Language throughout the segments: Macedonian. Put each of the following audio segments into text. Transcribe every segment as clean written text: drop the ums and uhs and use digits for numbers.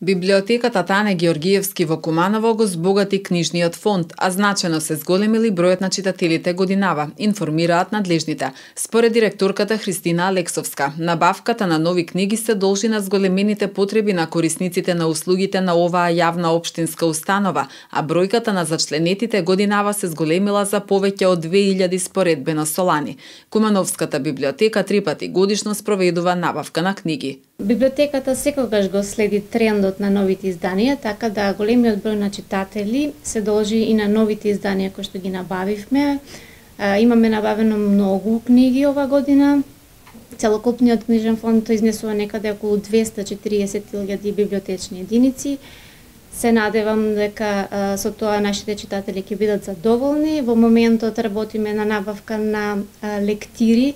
Библиотеката Тане Георгиевски во Куманово го збогати книжниот фонд, а значено се зголемили бројот на читателите годинава, информираат надлежните. Според директорката Христина Алексовска, набавката на нови книги се должи на зголемените потреби на корисниците на услугите на оваа јавна општинска установа, а бројката на зачленетите годинава се зголемила за повеќе од 2000 споредбено со лани. Кумановската библиотека 3 пати годишно спроведува набавка на книги. Библиотеката секогаш го следи трендот на новите изданија, така да големиот број на читатели се должи и на новите изданија кои што ги набавивме. Имаме набавено многу книги ова година. Целокупниот книжен фонд изнесува некаде околу 240.000 библиотечни единици. Се надевам дека со тоа нашите читатели ќе бидат задоволни. Во моментот работиме на набавка на лектири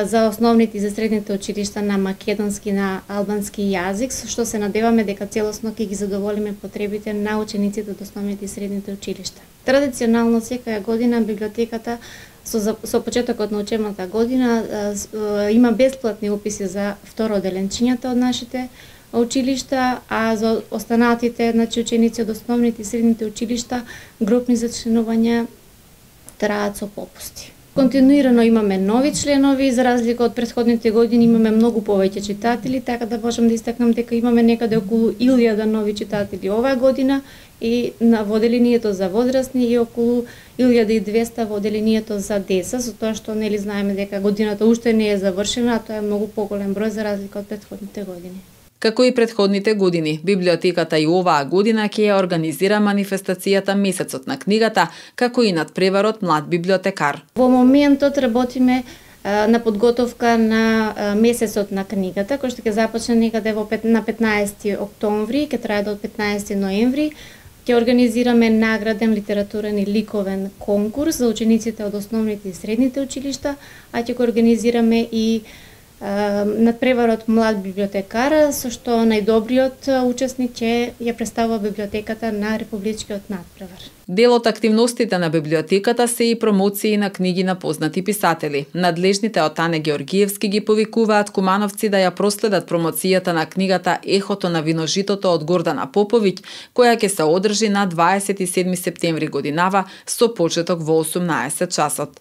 за основните и за средните училишта на македонски и на албански јазик, со што се надеваме дека целосно ќе ги задоволиме потребите на учениците од основните и средните училишта. Традиционално секоја година библиотеката со почетокот на учебната година има бесплатни уписи за второделенчињата од нашите училишта, а за останатите ученици од основните и средните училишта групни зачленувања траат со попусти. Континуирано имаме нови членови, за разлика од претходните години имаме многу повеќе читатели, така да можам да истакнам дека имаме некаде околу 1000 нови читатели оваа година и во оделението за возрастни и околу 1200 во оделението за деца, со тоа што нели знаеме дека годината уште не е завршена, а тоа е многу поголем број за разлика од претходните години. Како и претходните години, библиотеката и оваа година ќе ја организира манифестацијата Месецот на книгата, како и надпреварот Млад библиотекар. Во моментот работиме на подготовка на Месецот на книгата, кој што ќе започне некаде на 15 октомври, ќе трае до 15 ноември. Ќе организираме награден литературен и ликовен конкурс за учениците од основните и средните училишта, а ќе го организираме и надпреварот Млад библиотекар, со што најдобриот учесник ќе ја представува библиотеката на републичкиот надпревар. Дел од активностите на библиотеката се и промоции на книги на познати писатели. Надлежните од Тане Георгиевски ги повикуваат кумановци да ја проследат промоцијата на книгата Ехото на виножитото од Гордана Поповиќ, која ќе се одржи на 27 септември годинава со почеток во 18 часот.